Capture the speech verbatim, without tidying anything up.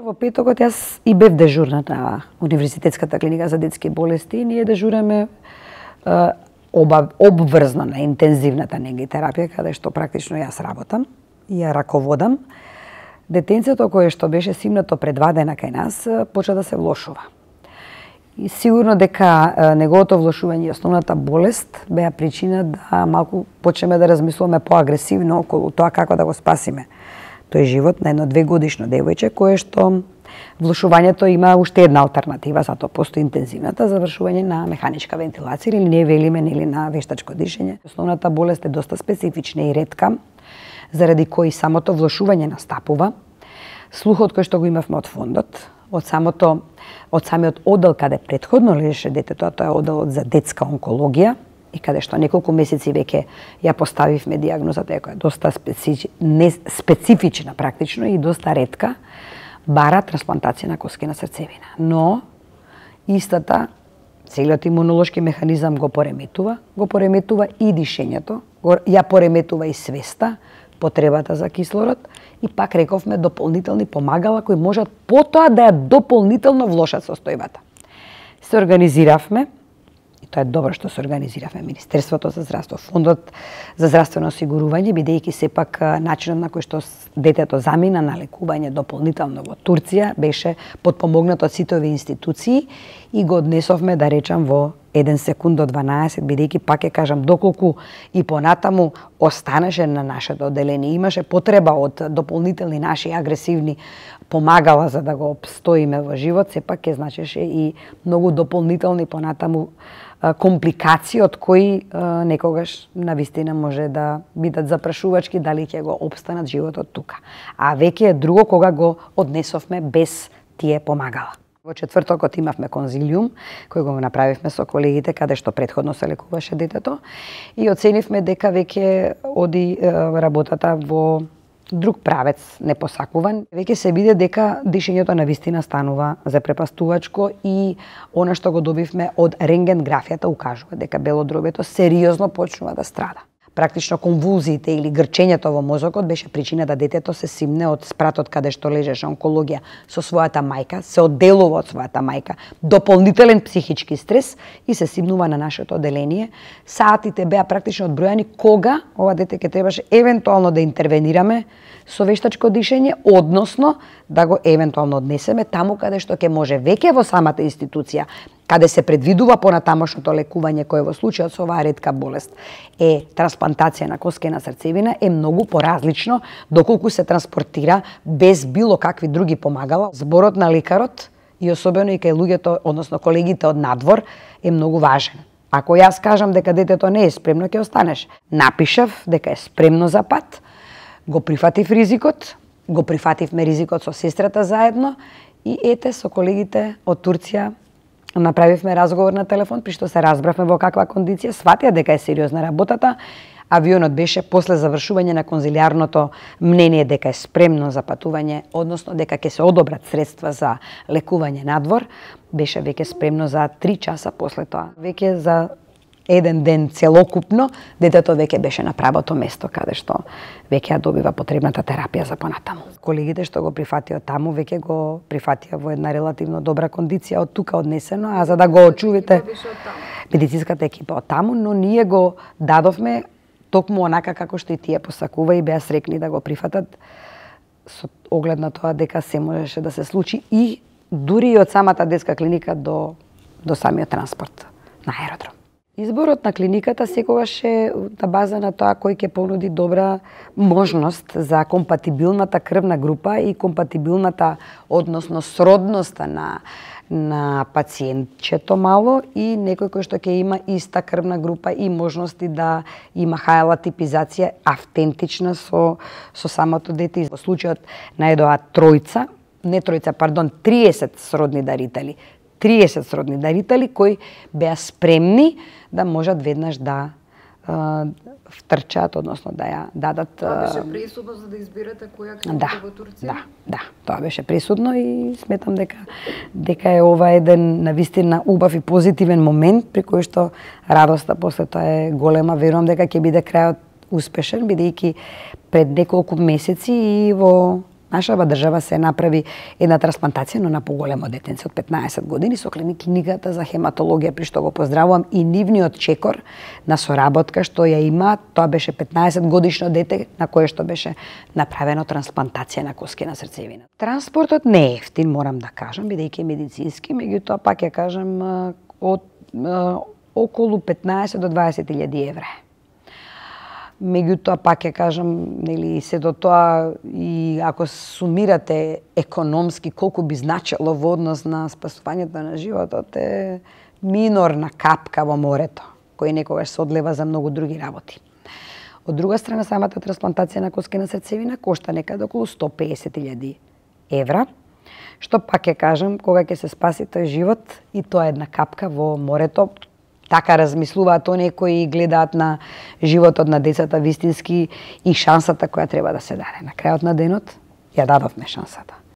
Во петокот јас и бев дежурна на Универзитетската клиника за детски болести и ние дежураме оба, обврзно на интензивната негитерапија, каде што практично јас работам и ја раководам. Детенцето кое што беше симнато пред два дена кај нас почна да се влошува. И сигурно дека неговото влошување и основната болест беа причина да малку почнеме да размислуваме поагресивно околу тоа како да го спасиме тој живот на едно двегодишно девојче кое што влошувањето има уште една алтернатива, затоа постои интензивната завршување на механичка вентилација или ние велиме нели на вештачко дишење. Основната болест е доста специфична и ретка, заради кој самото влошување настапува. Слухот кој што го имавме од фондот, од самото од самиот одел каде претходно лежеше детето, тоа е оделот за детска онкологија, и каде што неколку месеци веќе ја поставивме дијагнозата, која е доста специфи... не специфична практично и доста ретка, бара трансплантација на коскена срцевина. Но истата, целиот имунолошки механизам го пореметува, го пореметува и дишењето, ја пореметува и свеста, потребата за кислород и пак рековме дополнителни помагала кои можат потоа да ја дополнително влошат состојбата. Се организиравме, и тоа е добро што се организиравме, Министерството за здравство, Фондот за здравствено осигурување, бидејќи сепак начинот на кој што детето замина на лекување дополнително во Турција беше подпомогнато од сите овие институции и го однесовме, да речам, во еден секунд до дванаесет, бидејќи пак ќе кажам, доколку и понатаму останеше на нашето одделение, имаше потреба од дополнителни наши агресивни помагала за да го обстоиме во живот, сепак ќе значеше и многу дополнителни понатаму компликации од кои некогаш навистина може да бидат запрашувачки дали ќе го обстанат животот тука. А веќе е друго кога го однесовме без тие помагала. Во четвртокот имавме конзилиум, кој го направивме со колегите, каде што претходно се лекуваше детето, и оценивме дека веќе оди работата во друг правец непосакуван. Веќе се види дека дишењето навистина станува запрепастувачко и она што го добивме од рентгенграфијата укажува дека белодробјето сериозно почнува да страда. Практично конвулзиите или грчењето во мозокот беше причина да детето се симне од спратот каде што лежеше онкологија со својата мајка, се одделува од својата мајка, дополнителен психички стрес и се симнува на нашето одделение. Саатите беа практично одбројани кога ова дете ќе требаше евентуално да интервенираме со вештачко дишење, односно да го евентуално однесеме таму каде што ќе може веќе во самата институција, каде се предвидува понатамошното лекување кое во случајот со оваа ретка болест е трансплантација на коскена срцевина, е многу поразлично доколку се транспортира без било какви други помагала. Зборот на лекарот и особено и кај луѓето, односно колегите од надвор, е многу важен. Ако јас кажам дека детето не е спремно, ќе останеш. Напишав дека е спремно за пат, го прифатив ризикот, го прифативме ризикот со сестрата заедно и ете со колегите од Турција направивме разговор на телефон, при што се разбравме во каква кондиција, сватија дека е сериозна работата. Авионот беше после завршување на конзилиарното мнение дека е спремно за патување, односно дека ќе се одобрат средства за лекување надвор, беше веќе спремно за три часа после тоа. Веќе за еден ден целокупно, детето веќе беше на правото место каде што веќе ја добива потребната терапија за понатаму. Колегите што го прифатија таму веќе го прифатија во една релативно добра кондиција од тука однесено, а за да го очувате медицинската екипа од таму, но ние го дадовме токму онака како што и тие посакува и беа срекни да го прифатат со оглед на тоа дека се можеше да се случи и дури и од самата детска клиника до до самиот транспорт на аеродром. Изборот на клиниката секогаш е на база на тоа кој ќе понуди добра можност за компатибилната крвна група и компатибилната, односно сродноста на на пациентчето мало и некој кој што ќе има иста крвна група и можности да има хајала типизација автентична со со самото дете. Во случајот најдоа тројца, не тројца, пардон, триесет сродни дарители. триесет сродни дарители кои беа спремни да можат веднаш да а, втрчат, односно да ја дадат. Тоа беше пресудно за да изберете која клиника да, во Турција? Да, да, тоа беше пресудно и сметам дека дека е ова еден навистина убав и позитивен момент при кој што радоста после тоа е голема. Верувам дека ќе биде крајот успешен, бидејќи пред неколку месеци и во нашава држава се направи една трансплантација, но на поголемо детенце од петнаесет години со клиниката за хематологија, при што го поздравувам и нивниот чекор на соработка што ја има, тоа беше петнаесет годишно дете на кое што беше направено трансплантација на коски на срцевина. Транспортот не е ефтин, морам да кажам, бидејќи е медицински, меѓутоа пак ја кажам од околу петнаесет до дваесет илјади евра. Меѓутоа, пак ќе кажам, нели, сето тоа и ако сумирате економски колку би значило во однос на спасувањето на животот, е минорна капка во морето, кој некогаш се одлева за многу други работи. Од друга страна, самата трансплантација на коски на срцевина кошта некаде околу сто песет илјади евра, што пак ќе кажам, кога ќе се спаси тој живот, и тоа е една капка во морето. Така размислуваат оние кои гледаат на животот на децата вистински и шансата која треба да се даде. На крајот на денот ја дадовме шансата.